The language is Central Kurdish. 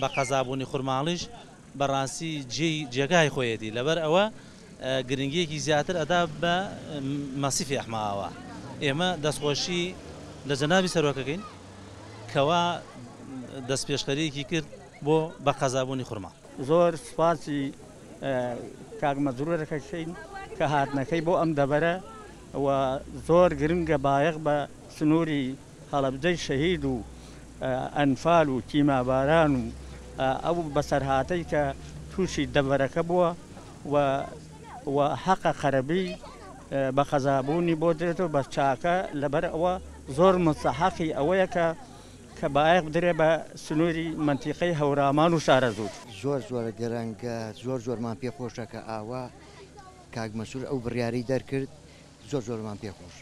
بە قەزابوونی خورماڵیش بەڕاستی جێی جێگای خۆیەتی لەبەر ئەوە گرنگیەکی زیاتر ئەدا بە مەسیفی ئەحمەئاوا ئێمە دەستخۆشی لە جەنابی سەرۆکەکەین کەوا دەستپێشخەریەکی کرد بۆ بە قەزابوونی خورماڵ. زۆر سوپاسی کاک مەزرور ئەکەین کە هاتنەکەی بۆ ئەم دەڤەرە و زۆر گرنگە بایەخ بە سنووری هەڵەبجەی شەهید و ئەنفال و کیماباران و ئەو بەسەرهاتەی کە تووشی دەڤەرەکە بووە و و حەقە قەرەبی بە قەزابوونی بۆ درێت و بە چاکە لەبەر ئەوە زۆر مستەحەقی ئەوەیە کە کە بایەخ بدرێ بە سنووری مەنتیقەی هەورامان و شارەزوور. زۆر زۆر گرنگە زۆر زۆرمان پێ خۆشە کە ئاوا کاک مەسرور ئەو بڕیارەی دەرکرد زۆر زۆرمان پێ خۆشە.